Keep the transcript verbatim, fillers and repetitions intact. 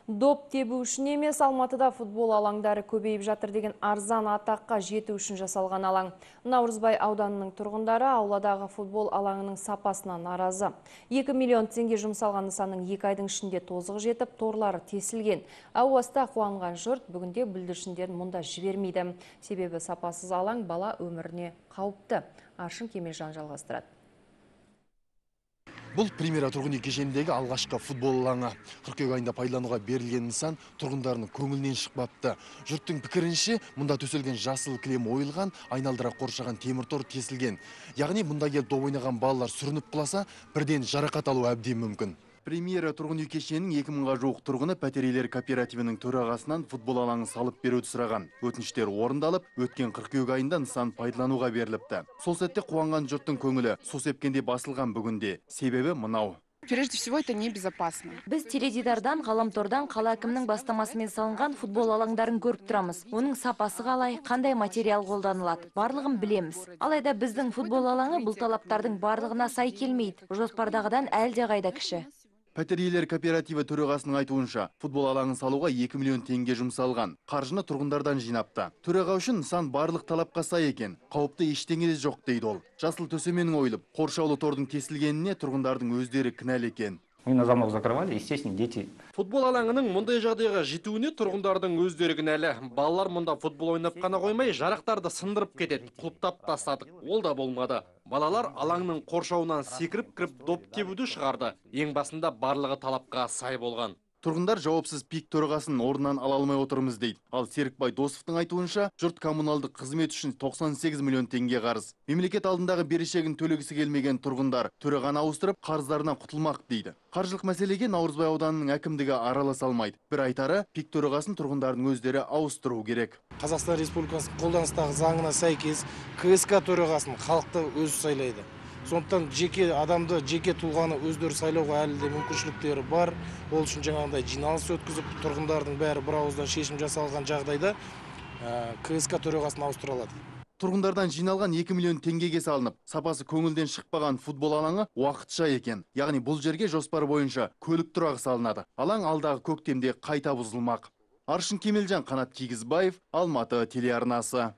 Доп тебу үшін емес, Алматыда футбол алаңдары көбейіп жатыр деген арзан атаққа жету үшін жасалған алаң. Наурызбай ауданының тұрғындары ауладағы футбол алаңының сапасына наразы. екі миллион теңге жұмсалған нысанның екі айдың ішінде тозығы жетіп, торлары тесілген. Ауаста қуанған жұрт бүгінде бүлдіршіндерін мұнда жібермейді. Себебі сапасыз алаң бала өміріне қауіпті. Аршын Кемелжан жалғастырады. Бұл Примера тұрғын үй кешеніндегі алғашқы футбол алаңы. Қыркүйек айында пайдалануға берілген нысан тұрғындарының көңілінен шықпапты. Жұрттың пікірінше, мұнда төселген жасыл кілем ойылған, айналдыра қоршаған темір тор тесілген. Яғни мұнда келіп доп ойнаған балалар сүрініп құласа, бірден жарақат алу әбден мүмкін. Примера тұрғын үй кешенінің екі мыңға жуық тұрғыны пәтер кооперативінің төрағасынан футбол алаңын салып беруді сұраған. Өтініштер орындалып, өткен қыркүйек айында нысан пайдалануға беріліпті. Сол сәтте қуанған жұрттың көңілі су сепкенде басылған бүгінде. Себебі мынау. Прежде всего, это небезопасно. Біз теледидардан, ғаламтордан қала әкімінің бастамасымен салынған футбол алаңдарын көріп тұрамыз. Оның сапасы қалай, қандай материал қолданылады, барлығын білеміз. Алайда біздің футбол алаңы бұл талаптардың барлығына сай келмейді. Жоспардағыдан әлде қайда кіші. Пәтер иелері кооперативі төрағасының айтуынша, футбол алаңын салуға екі миллион теңге жұмсалған. Қаржыны тұрғындардан жинапты. Төраға үшін нысан барлық талапқа сай екен. Қауіпті ештеңе де жоқ дейді ол. Жасыл төсеменің ойылып, қоршаулы тордың тесілгеніне тұрғындардың өздері кінәлі екен. Мы на замок закрывали, естественно, дети. Футбол алаңының мұндай жағдайға жетуіне тұрғындардың өздері кінәлі. Балалар мұнда футбол ойнап қана қоймай, жарақтарды сындырып кетеді, құлыптап тастадық. Ол да болмады. Балалар алаңның қоршауынан секіріп кіріп доп тебуді шығарды. Ең басында барлығы талапқа сай болған. Тұрғындар жауапсыз пик төрағасын орнынан ала алмай отырмыз дейді. Ал Серікбай Досовтың айтуынша, жұрт коммуналдық қызмет үшін тоқсан сегіз миллион теңге қарыз. Мемлекет алдындағы берешегін төлегісі келмеген тұрғындар төрағаны ауыстырып, қарыздарынан құтылмақ дейді. Қаржылық мәселеге Наурызбай ауданының әкімдігі араласа алмайды. Бір айтары, пик төрағасын тұрғындардың өздері ауыстыру керек. Қазақстан Республикасының қолданыстағы заңына сәйкес КСК төрағасын халықты өзі сайлайды. Сондықтан жеке адамды, жеке тұлғаны өздері сайлауға әлі де мүмкіншіліктері бар. Ол үшін жаңағындай жиналыс өткізіп, тұрғындардың бәрі бір ауыздан шешім жасалған жағдайда КСК төрағасын ауыстыра алады. Тұрғындардан жиналған екі миллион теңгеге салынып, сапасы көңілден шықпаған футбол алаңы уақытша екен. Яғни бұл жерге жоспар бойынша көлік тұрағы салынады. Алаң алдағы көктемде қайта бұзылмақ. Аршын Кемелжан, Қанат Кигізбаев, Алматы телеарнасы.